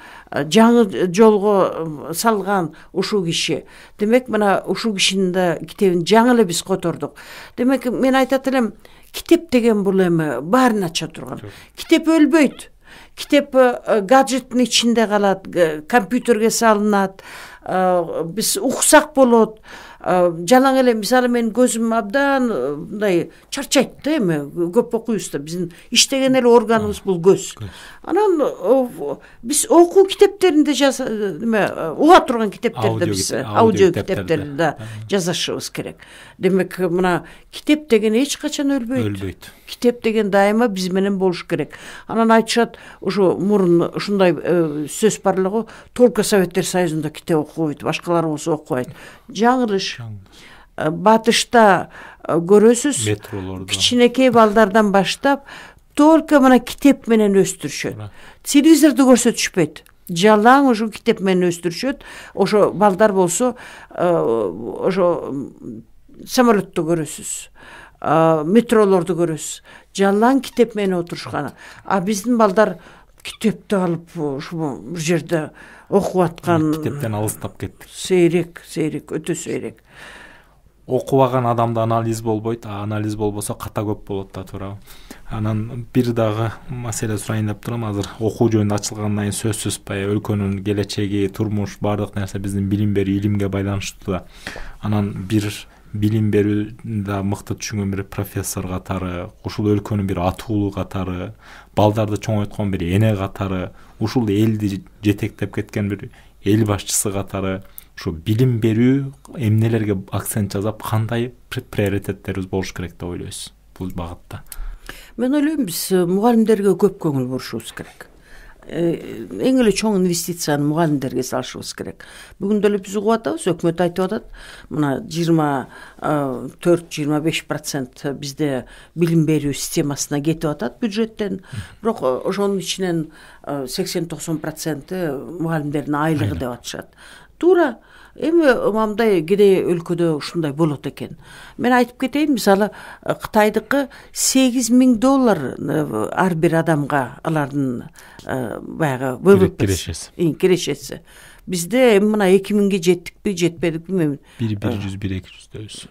жаңы жолго салган ушул киши. Демек, мына ушул кишинин да китебин жаңы эле биз котордук. Демек, мен айтат элем, китеп деген бул эми баарын ача турган. Китеп өлбөйт. Китеп гаджеттин ичинде калат, компьютерге салынат, биз уксак болот. Жалаң эле мисалы мен көзүм абдан мындай чарчайт да, эми көп окуйбуз да, биздин иштеген эле органыбыз бул көз. Анан биз окуу китептеринде неме уга турган китептерди биз аудио китептерди да жазышыбыз керек. Демек, мына китеп деген эч качан өлбөйт. Өлбөйт. Китеп деген дайыма биз менен болуш керек. Анан айтышат, ушу мурун ушундай сөз бар эле го, только Советтер Союзунда китеп окубайт, башкалар болсо окубайт. Жаңылыш. Батышта көрөсүз, кичинекей балдардан баштап только мына китеп менен өстүрүшөт. Телевизорду көрсөтүшпөйт. Жалаң ошо китеп менен өстүрүшөт. Ошо балдар болсо ошо самолетту көрөсүз, метролорду көрөсүз. Жалаң китеп менен отурушкан. А биздин балдар китепти алып ушул бир жерде окуп аткан. Китептен алыстап кеттик. Сейрек, сейрек, өтө сейрек. Окубаган адамда анализ болбойт, а анализ болбосо ката көп болот да, туурабы. Анан бир дагы маселе сурайын деп турам. Азыр окуу жөнүндө ачылгандан кийин сөзсүз баягы өлкөнүн келечеги, турмуш, баардык нерсе биздин билим берүү, илимге байланыштуу да. Анан бир билим берүүдө мыкты түшүнгөн бир профессор катары, ушул өлкөнүн бир атуулу катары, балдарды чоңойткон бир эне катары, ушул элди жетектеп кеткен бир эл башчысы катары, ушу билим берүү эмнелерге акцент жасап, кандай приоритеттерибиз болуш керек деп ойлойсуз бул багытта? Мен ойлойм, биз мугалимдерге көп көңүл бурушубуз керек. Эң эле чоң инвестицияны мугалимдерге салышыбыз керек. Бүгүн деле биз угуп атабыз, өкмөт айтып атат, мына жыйырма төрт жыйырма беш процент бизде билим берүү системасына кетип атат бюджеттен. Бирок ошонун ичинен сексен токсон проценти мугалимдердин айлыгы деп атышат. Туура. Эми мындай кедей өлкөдө ушундай болот экен. Мен айтып кетейин, мисалы Кытайдыкы сегиз миң доллар ар бир адамга алардын баягы кирешеси. Кирешеси. Бизде эми мына эки миңге жеттикпи, жетпедикпи мен бир жүз бир эки жүздөбүз.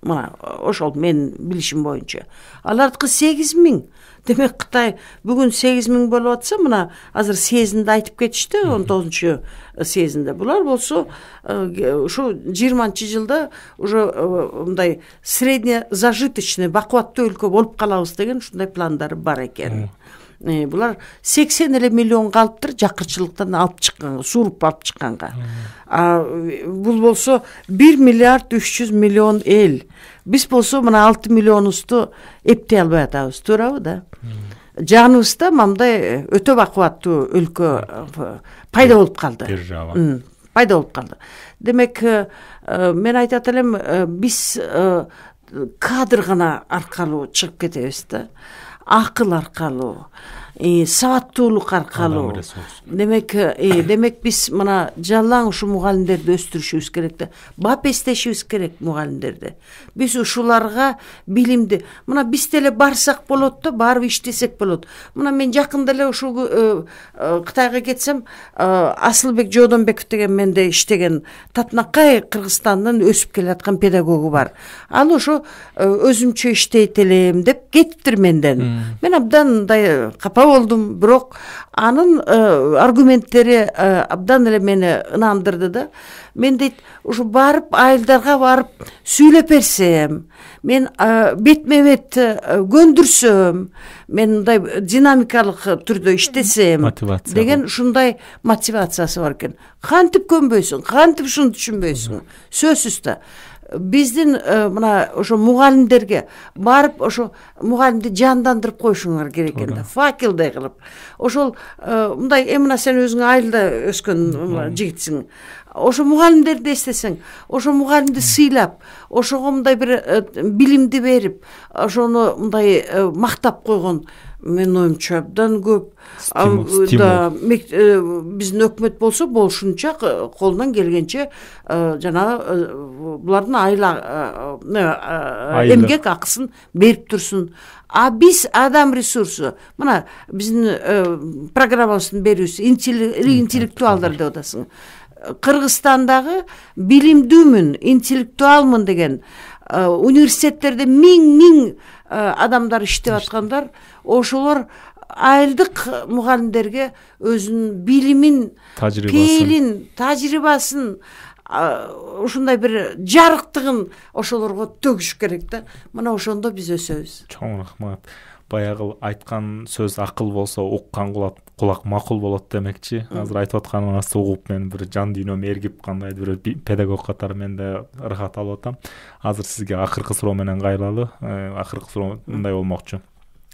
Мына ошол мен билишим боюнча. Алардыкы сегиз миң. Демек Кытай бүгүн сегиз миң болуп атса, мына азыр съездинде айтып кетишти, он тогузунчу съездинде. Булар болсо ушу жыйырманчы жылда уже мындай среднезажиточный бакубаттуу өлкө болуп калабыз деген ушундай пландары бар экен. Булар сексен эле миллион калыптыр жакырчылыктан алып чыкканга, сууруп алып чыкканга. А бул болсо бир миллиард үч жүз миллион эл. Биз болсо мына алты миллионубузду эптей албай атабыз, туурабы да? Жаныбызда мындай өтө бакубаттуу өлкө пайда болуп калды. Держава. Пайда болуп калды. Демек, мен айтат элем, биз кадр гана аркылуу чыгып кетебиз да. Акыл аркылуу, сабаттуулук аркылуу. Демек, демек биз мына жалаң ушу мугалимдерди өстүрүшүбүз керек да. Бап эстешибиз керек мугалимдерди. Биз ушуларга билимди, мына биз деле барсак болот да, барып иштесек болот. Мына мен жакында эле ушул Кытайга кетсем, Асылбек Жодонбеков деген менде иштеген Татнакай Кыргызстандын өсүп келаткан педагогу бар. Ал ошо өзүмчө иштейт элем деп кетиптир менден. Мен абдан мындай капа болдум, бирок анын аргументтери абдан эле мени ынандырды да. Мен дейт, ушу барып айылдарга барып сүйлөп берсем, мен бетме бет көндүрсөм, мен мындай динамикалык түрдө иштесем деген ушундай мотивациясы бар экен. Кантип көнбөйсүң, кантип ушуну түшүнбөйсүң? Сөзсүз да. Биздин мына ошо мугалимдерге барып ошо мугалимди жандандырып коюшуңар керек экен да, факелдей кылып. Ошол мындай эми мына сен өзүң айылда өскөн жигитсиң. Ошо мугалимдерди эстесең, ошо мугалимди сыйлап, ошого мындай бир билимди берип, ошону мындай мактап койгон мен оюмча абдан көп. Да, биздин өкмөт болсо болушунча колунан келгенче жанагы булардын айла эмгек акысын берип турсун. А биз адам ресурсу, мына биздин программабыздын берүүсү интеллектуалдар деп атасың. Кыргызстандагы билимдүүмүн, интеллектуалмын деген университеттерде миң-миң адамдар иштеп аткандар, ошолор айылдык мугалимдерге өзүнүн билимин, пейилин, тажрыйбасын, ушундай бир жарыктыгын ошолорго төгүш керек да. Мына ошондо биз өсөбүз. Чоң рахмат. Баягы айткан сөз акыл болсо уккан кулак макул болот демекчи. Азыр айтып атканыңызды угуп мен бир жан дүйнөм эргип, кандайдыр бир педагог катары мен да ырахат алып атам. Азыр сизге акыркы суроо менен кайрылалы. Акыркы суроо мындай болмокчу.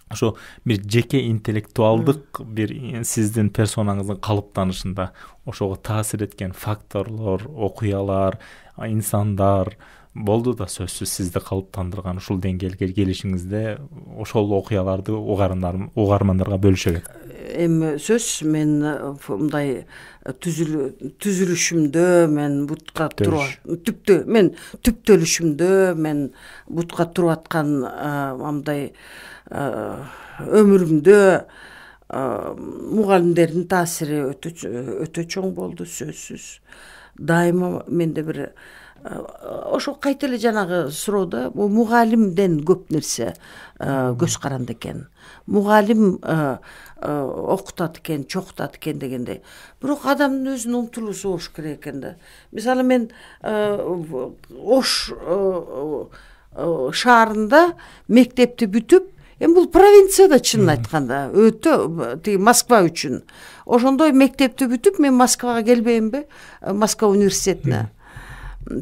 Ошо бир жеке интеллектуалдык бир сиздин персонаңыздын калыптанышында ошого таасир эткен факторлор, окуялар, инсандар болду да сөзсүз сизди калыптандырган ушул деңгээлге келишиңизде ошол окуяларды угармандарга бөлүшө керек. Эми сөз мен мындай түзүлүшүмдө мен бутка туруп түптө мен түптөлүшүмдө мен бутка туруп аткан мындай өмүрүмдө мугалимдердин таасири өтө өтө чоң болду, сөзсүз. Дайыма менде бир ошо кайта эле жанагы суроодо мугалимден көп нерсе көз каранды экен. Мугалим окутат экен, чокутат экен дегенде. Бирок адамдын өзүнүн умтулуусу болуш керек экен да. Мисалы мен Ош шаарында мектепти бүтүп, эми бул провинцияда чынын айтканда, өтө тиги Москва үчүн. Ошондой мектепти бүтүп, мен Москвага келбеймби? Москва университетине,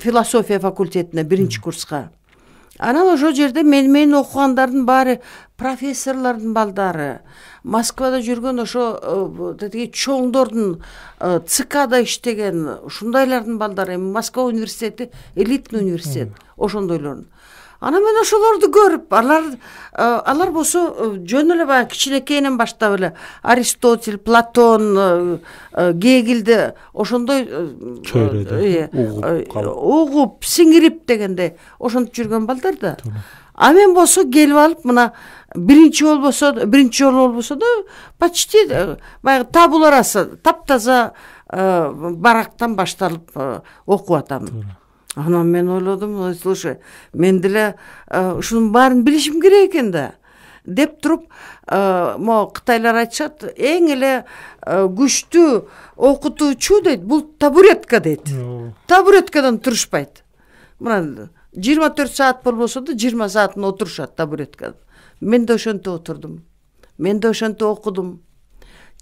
философия факультетине биринчи курска. Анан ошол жерде мен менен окугандардын баары профессорлордун балдары, Москвада жүргөн ошо тетиги чоңдордун ЦКда иштеген ушундайлардын балдары. Эми Москва университети элитный университет, ошондойлордун. Анан мен ошолорду көрүп, алар алар болсо жөн эле баягы кичинекейинен баштап эле Аристотель, Платон, Гегельди ошондой угуп, сиңирип дегенде ошентип жүргөн балдар да. А мен болсо келип алып мына биринчи болбосо, биринчи жолу болбосо да почти баягы табуларасы таптаза барактан башталып окуп атам. Анан мен ойлодум, слушай, мен деле ушунун баарын билишим керек экен да деп туруп, могу кытайлар айтышат, эң эле күчтүү окутуучу дейт, бул табуретка дейт. Табуреткадан турушпайт. Мына жыйырма төрт саат болбосо да жыйырма саатын отурушат табуреткада. Мен да ошентип отурдум. Мен да ошентип окудум.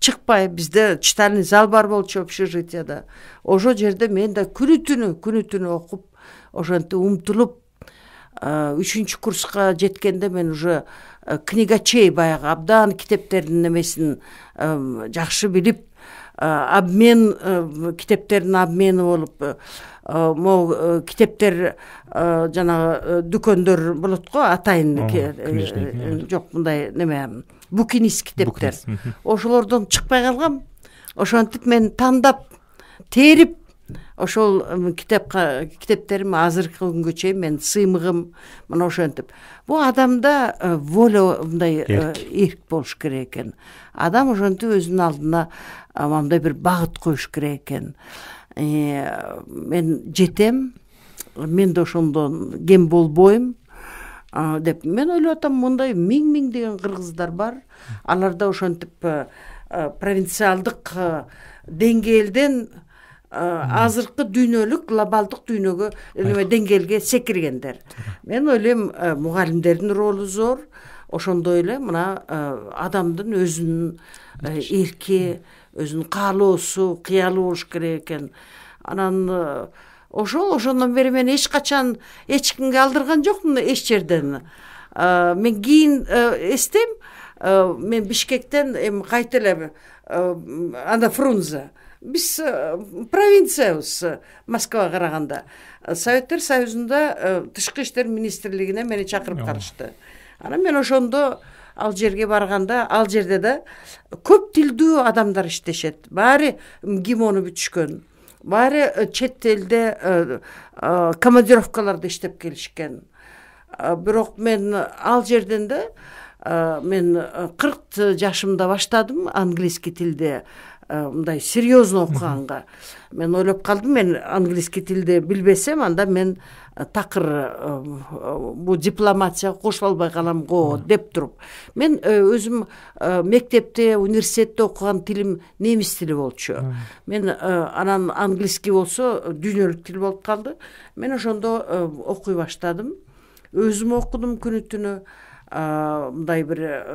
Чыкпай, бизде читальный зал бар болчу общежитияда. Ошол жерде мен да күнү түнү, күнү түнү окуп, ошентип умтулуп, үчүнчү курска жеткенде мен уже книгачей баягы абдан китептердин немесин жакшы билип, обмен китептердин обмени болуп, могу китептер жанагы дүкөндөр болот го, атайын жок мындай неме букинист китептер. Ошолордон чыкпай калгам. Ошентип мен тандап, терип, ошол китепка китептерим азыркы күнгө чейин мен сыймыгым мына ошентип. Бул адамда воля мындай эрк болуш керек экен. Адам ошентип өзүнүн алдына мындай бир багыт коюш керек экен. Мен жетем, мен да ошондон кем болбойм деп мен ойлоп атам. Мындай миң-миң деген кыргыздар бар. Алар да ошентип провинциалдык деңгээлден азыркы дүйнөлүк глобалдык дүйнөгө неме деңгээлге секиргендер. Мен ойлойм, мугалимдердин ролу зор. Ошондой эле мына адамдын өзүнүн эрки, өзүнүн каалоосу, кыялы болуш керек экен. Анан ошол ошондон бери мен эч качан эч кимге алдырган жокмун эч жерден. Мен кийин эстейм, мен Бишкектен эми кайта эле анда Фрунзе. Биз провинциябыз Москвага караганда. Советтер Союзунда тышкы иштер министрлигине мени чакырып калышты. Анан мен ошондо ал жерге барганда, ал жерде да көп тилдүү адамдар иштешет. Баары гимону бүтүшкөн. Баары чет элде командировкаларда иштеп келишкен. Бирок мен ал жерден да мен кырк жашымда баштадым английский тилде мындай серьезно окуганга. Мен ойлоп калдым, мен английский тилди билбесем, анда мен такыр бу дипломатияга кошула албай калам го деп туруп. Мен өзүм мектепте, университетте окуган тилим немис тили болчу. Мен анан английский болсо дүйнөлүк тил болуп калды. Мен ошондо окуй баштадым. Өзүм окудум күнү түнү. Мындай бир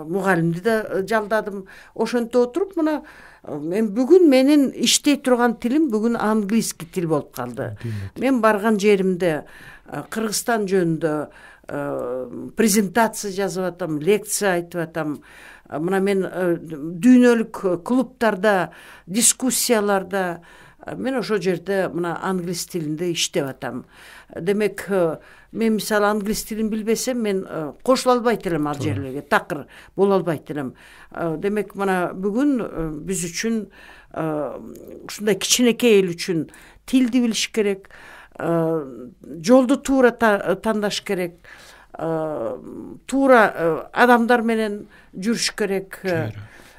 мугалимди да жалдадым. Ошентип отуруп, мына мен бүгүн менин иштей турган тилим бүгүн английский тил болуп калды. Мен барган жеримде Кыргызстан жөнүндө презентация жазып атам, лекция айтып атам. Мына мен дүйнөлүк клубтарда, дискуссияларда мен ошол жерде мына англис тилинде иштеп атам. Демек, мен мисалы англис тилин билбесем, мен кошула албайт элем ал жерлерге, такыр боло албайт элем. Демек, мына бүгүн биз үчүн, ушундай кичинекей эл үчүн тилди билиш керек, жолду туура тандаш керек, туура адамдар менен жүрүш керек.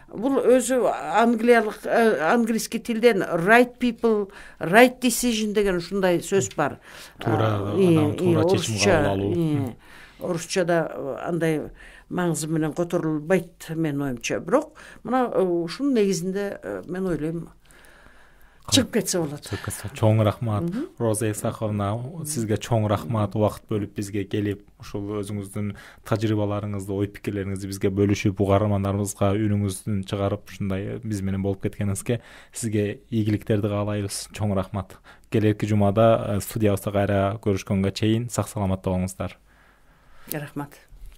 Бул өзү англиялык английский тилден right people, right decision деген ушундай сөз бар. Туура адам туура чечим кабыл алуу. Орусчада андай маңызы менен которулбайт менин оюмча. Бирок мына ушунун негизинде мен ойлойм чыгып кетсе болот. Чоң рахмат. Роза Исаховна, сизге чоң рахмат, убакыт бөлүп бизге келип, ушул өзүңүздүн тажрыйбаларыңызды, ой пикирлериңизди бизге бөлүшүп, угармандарыбызга үнүңүздүн чыгарып ушундай биз менен болуп кеткениңизге сизге ийгиликтерди каалайбыз. Чоң рахмат. Келерки жумада студиябызда кайра көрүшкөнгө чейин сак саламатта болуңуздар. Рахмат.